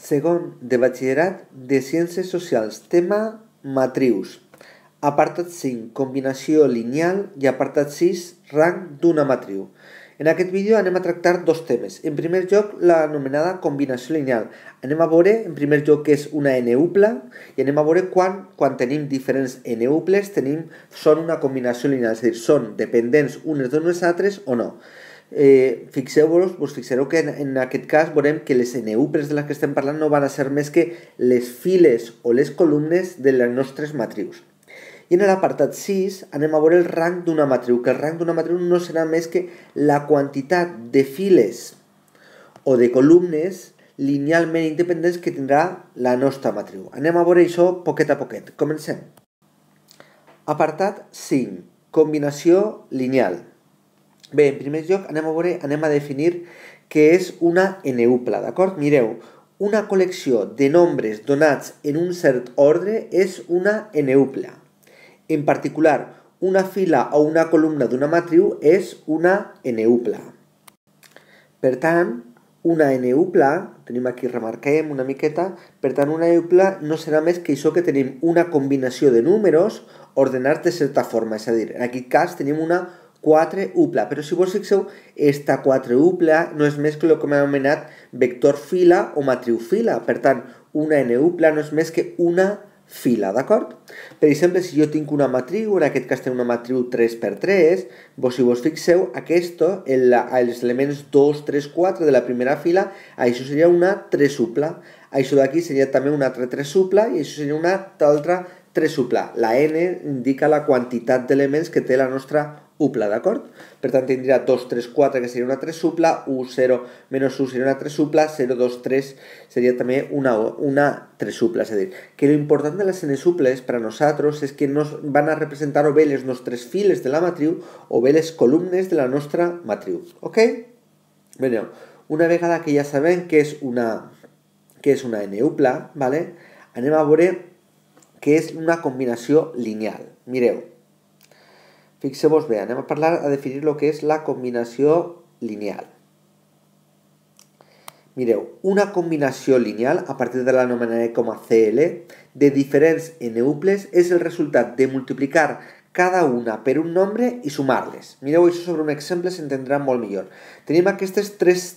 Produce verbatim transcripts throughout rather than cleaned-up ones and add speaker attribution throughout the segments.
Speaker 1: Segon de batxillerat de Ciències Socials, tema matrius. Apartat cinc, combinació lineal i apartat sis, rang d'una matriu. En aquest vídeo anem a tractar dos temes. En primer lloc, l'anomenada combinació lineal. Anem a veure, en primer lloc, què és una n-upla i anem a veure quan, quan tenim diferents n-uples, tenim, són una combinació lineal, és a dir, són dependents unes d'unes altres o no. Eh, fixeu-vos, vos fixareu que en, en aquest cas veurem que les n-uples de les que estem parlant no van a ser més que les files o les columnes de les nostres matrius. I en l'apartat sis anem a veure el rang d'una matriu, que el rang d'una matriu no serà més que la quantitat de files o de columnes linealment independents que tindrà la nostra matriu. Anem a veure això poquet a poquet. Comencem. Apartat cinc. Combinació lineal. Bé, en primer lloc anem a veure, anem a definir què és una n-upla, d'acord? Mireu, una col·lecció de nombres donats en un cert ordre és una n-upla. En particular, una fila o una columna d'una matriu és una n-upla. Per tant, una n-upla, tenim aquí, remarquem una miqueta, per tant, una n-upla no serà més que això que tenim una combinació de números ordenats de certa forma, és a dir, en aquest cas tenim una quatre-upla, però si vos fixeu, esta quatre-upla no és més que el que hem anomenat vector fila o matriu fila, per tant, una n-upla no és més que una fila, d'acord? Per exemple, si jo tinc una matriu, en aquest cas tinc una matriu tres per tres, vos, si vos fixeu, aquesta, els elements dos, tres, quatre de la primera fila, això seria una tresupla. Això d'aquí seria també una altra tresupla i això seria una altra tresupla. La n indica la quantitat d'elements que té la nostra upla, d'acord? Per tant, tindria dos, tres, quatre, que seria una tresupla, u, zero, menys u seria una tresupla, zero, dos, tres seria també una, una tresupla. És a dir, que l'important de les n-suples per a nosaltres és que nos van a representar o bé les nostres files de la matriu o bé les columnes de la nostra matriu. Ok? Bé, una vegada que ja sabem què és una, què és una n-upla, ¿vale? Anem a veure què és una combinació lineal. Mireu. Fixeu-vos bé, anem a parlar, a definir el que és la combinació lineal. Mireu, una combinació lineal, a partir de l'anomenaré com a C L, de diferents n-uples és el resultat de multiplicar cada una per un nombre i sumar-les. Mireu això sobre un exemple, s'entendrà molt millor. Tenim aquestes tres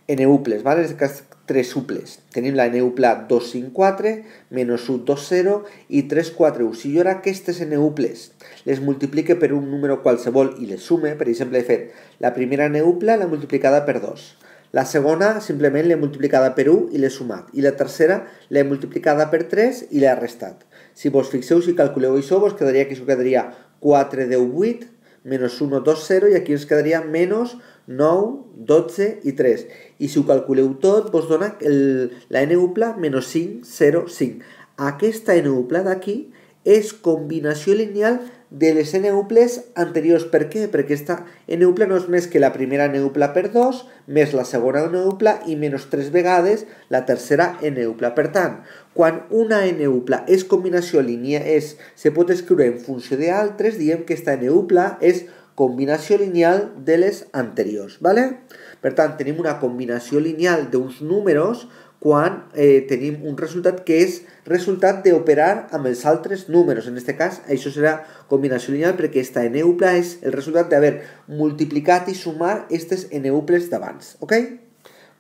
Speaker 1: n-uples, ¿vale? En aquest cas, tres uples. Tenim la n-upla dos, cinc, quatre, menys u, dos, zero i tres, quatre, u. Si jo ara aquestes n-uples les multiplique per un número qualsevol i les sume, per exemple, he fet la primera n-upla l'he multiplicada per dos, la segona simplement l'he multiplicada per u i l'he sumat, i la tercera l'he multiplicada per tres i l'he restat. Si vos fixeu, si calculeu això, vos quedaria que això quedaria quatre, deu, vuit, menys u, dos, zero, i aquí ens quedaria menys nou, dotze i tres. I si ho calculeu tot, vos dona el, la n-upla menys cinc, zero, cinc. Aquesta n-upla d'aquí és combinació lineal de les n-uples anteriors. Per què? Perquè aquesta n-upla no és més que la primera n-upla per dos, més la segona n-upla i menys tres vegades la tercera n-upla. Per tant, quan una n-upla és combinació lineal, és, se pot escriure en funció d'altres, diem que aquesta n-upla és combinació lineal de les anteriors, ¿vale? Per tant, tenim una combinació lineal d'uns números quan eh, tenim un resultat que és resultat d'operar amb els altres números. En aquest cas, això serà combinació lineal perquè aquesta n-upla és el resultat d'haver multiplicat i sumar aquestes n-uples d'abans, ok?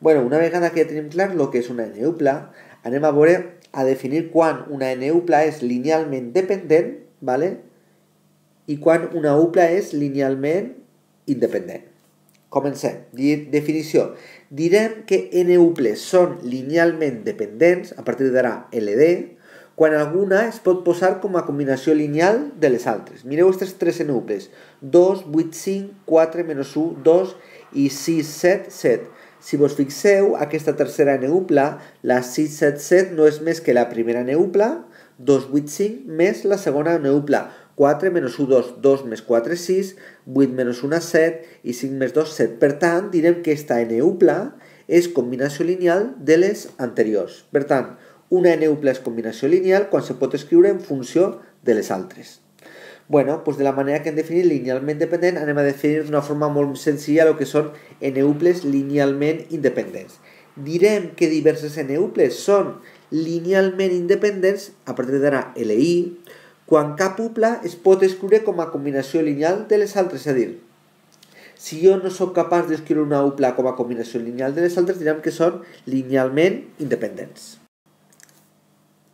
Speaker 1: Bueno, una vegada que ja tenim clar el que és una n-upla, anem a veure, a definir quan una n-upla és linealment dependent, ¿vale? I quan una upla és linealment independent. Comencem. Definició. Direm que n-uples són linealment dependents, a partir d'ara L D, quan alguna es pot posar com a combinació lineal de les altres. Mireu aquestes tres n-uples. dos, vuit, cinc, quatre, menys u, dos i sis, set, set. Si vos fixeu, aquesta tercera n-upla, la sis, set, set, no és més que la primera n-upla, dos, vuit, cinc, més la segona n-upla. quatre menys u, dos, dos més quatre, sis, vuit menys un, set i cinc més dos, set. Per tant, direm que aquesta n-upla és combinació lineal de les anteriors. Per tant, una n-upla és combinació lineal quan se pot escriure en funció de les altres. Bueno, doncs de la manera que hem definit linealment dependent, anem a definir d'una forma molt senzilla el que són n-uples linealment independents. direm que diverses n-uples són linealment independents, a partir d'ara L I, quan cap upla es pot escriure com a combinació lineal de les altres, és a dir, si jo no sóc capaç d'escriure una upla com a combinació lineal de les altres, direm que són linealment independents.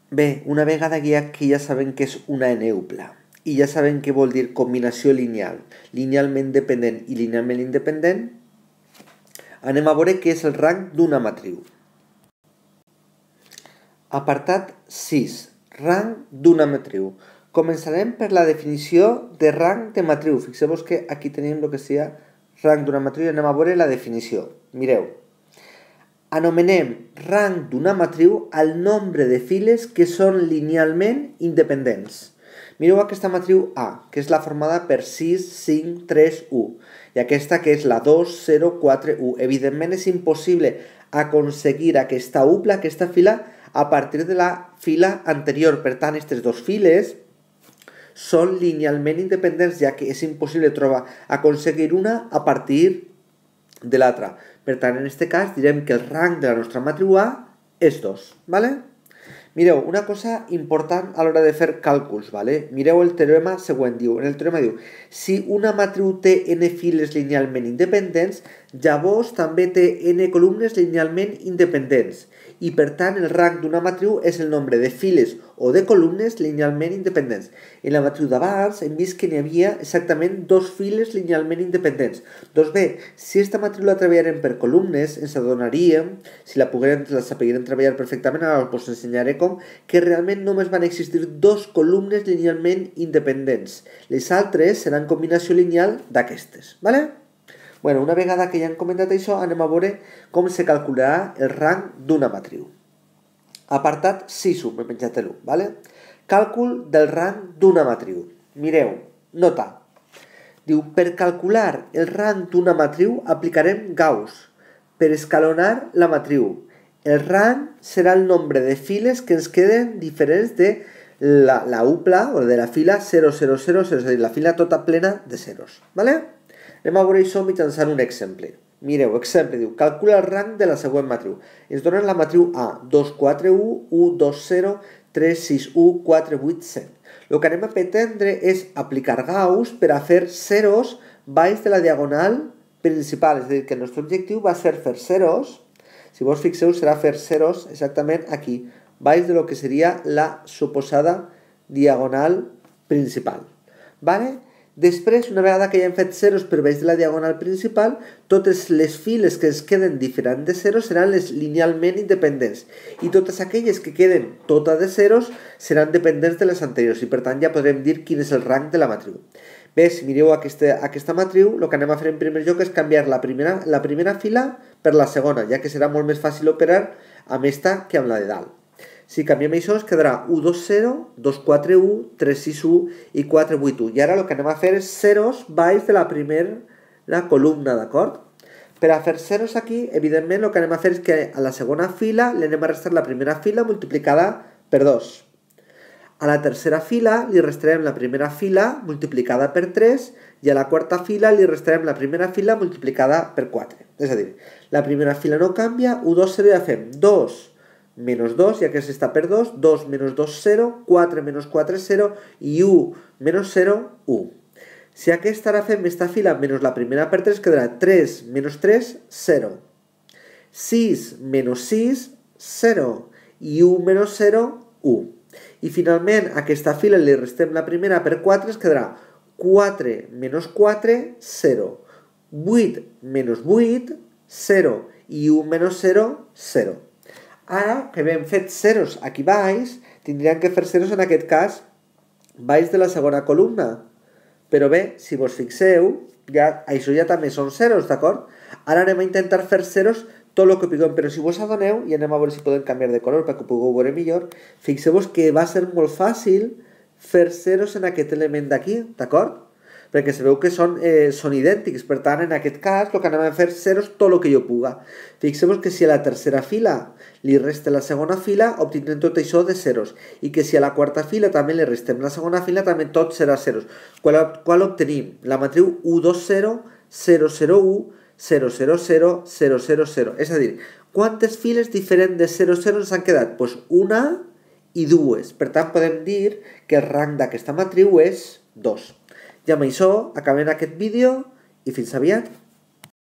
Speaker 1: Bé, una vegada que ja sabem què és una n-upla i ja sabem què vol dir combinació lineal, linealment dependent i linealment independent, anem a veure què és el rang d'una matriu. Apartat sis. Rang d'una matriu. Començarem per la definició de rang de matriu. Fixeu-vos que aquí tenim el que seria rang d'una matriu i anem a veure la definició. Mireu. Anomenem rang d'una matriu al nombre de files que són linealment independents. Mireu aquesta matriu A, que és la formada per sis, cinc, tres, u. I aquesta que és la dos, zero, quatre, u. Evidentment és impossible aconseguir aquesta upla, aquesta fila, a partir de la fila anterior. Per tant, aquestes dues files són linealment independents, ja que és impossible trobar, aconseguir una a partir de l'altra. Per tant, en aquest cas, direm que el rang de la nostra matriu A és dos. ¿Vale? Mireu, una cosa important a l'hora de fer càlculs. ¿Vale? Mireu el teorema següent. Diu, en el teorema diu, si una matriu té n files linealment independents, llavors també té n columnes linealment independents. I per tant el rang d'una matriu és el nombre de files o de columnes linealment independents. En la matriu d'abans hem vist que n'hi havia exactament dos files linealment independents. Doncs bé, si aquesta matriu la treballarem per columnes, ens adonaríem, si la poguérem, la sapiguérem treballar perfectament, ara us ensenyaré com, que realment només van existir dos columnes linealment independents. Les altres seran combinació lineal d'aquestes. ¿Vale? Bueno, una vegada que ja hem comentat això, anem a veure com se calcularà el rang d'una matriu. Apartat sis u, m'he penjat l'u, ¿vale? Càlcul del rang d'una matriu. Mireu, nota. Diu, per calcular el rang d'una matriu aplicarem Gauss per escalonar la matriu. El rang serà el nombre de files que ens queden diferents de la, la upla o de la fila zero zero zero, és a dir, la fila tota plena de zeros, ¿vale? Anem a veure això mitjançant un exemple. Mireu, exemple, diu, calcula el rang de la següent matriu. Ens donen la matriu A, dos, quatre, u, u, dos, zero, tres, sis, u, quatre, vuit, set. El que anem a pretendre és aplicar Gauss per a fer zeros baix de la diagonal principal. És a dir, que el nostre objectiu va ser fer zeros, si vos fixeu serà fer zeros exactament aquí, baix de lo que seria la suposada diagonal principal. Vale? Després, una vegada que ja hem fet zeros per baix de la diagonal principal, totes les files que ens queden diferents de zeros seran les linealment independents. I totes aquelles que queden tota de zeros seran dependents de les anteriors. I per tant ja podrem dir quin és el rang de la matriu. Bé, si mireu aquesta, aquesta matriu, el que anem a fer en primer lloc és canviar la primera, la primera fila per la segona, ja que serà molt més fàcil operar amb esta que amb la de dalt. Si canviem això, es quedarà u, dos, zero, dos, quatre, u, tres, sis, u i quatre, vuit, u. I ara el que anem a fer és zeros baix de la primera columna, d'acord? Per a fer zeros aquí, evidentment, el que anem a fer és que a la segona fila li anem a restar la primera fila multiplicada per dos. A la tercera fila li restarem la primera fila multiplicada per tres i a la quarta fila li restarem la primera fila multiplicada per quatre. És a dir, la primera fila no canvia, u, dos, zero, ja fem dos menys dos, ja que s'està per dos, dos menys dos, zero, quatre menys quatre, zero, i u menys zero, u. Si aquesta ara fem esta fila menys la primera per tres, quedarà tres menys tres, zero. sis menys sis, zero. I u menys zero, u. I finalment, a aquesta fila li restem la primera per quatre, es quedarà quatre menys quatre, zero. vuit menys vuit, zero. I u menys zero, zero. Ara que hem fet zeros aquí baix, tindríem que fer zeros en aquest cas baix de la segona columna. Però bé, si vos fixeu, ja, això ja també són zeros, d'acord? Ara anem a intentar fer zeros tot el que puguem, però si vos adoneu, i anem a veure si podem canviar de color perquè ho pugueu veure millor, fixeu-vos que va ser molt fàcil fer zeros en aquest element d'aquí, d'acord? Perquè sabeu que són, eh, són idèntics, per tant, en aquest cas, el que anem a fer zeros tot el que jo puga. Fixeu-vos que si a la tercera fila li resta la segona fila, obtindrem tot això de zeros, i que si a la quarta fila també li restem la segona fila, també tot serà zeros. Qual, qual obtenim? La matriu u, dos, zero, zero, zero, u, zero, zero, zero, zero, zero, zero. És a dir, quantes files diferents de zero zero ens han quedat? Doncs pues una i dues. Per tant, podem dir que el rang d'aquesta matriu és dos. I amb això acabem aquest vídeo i fins aviat.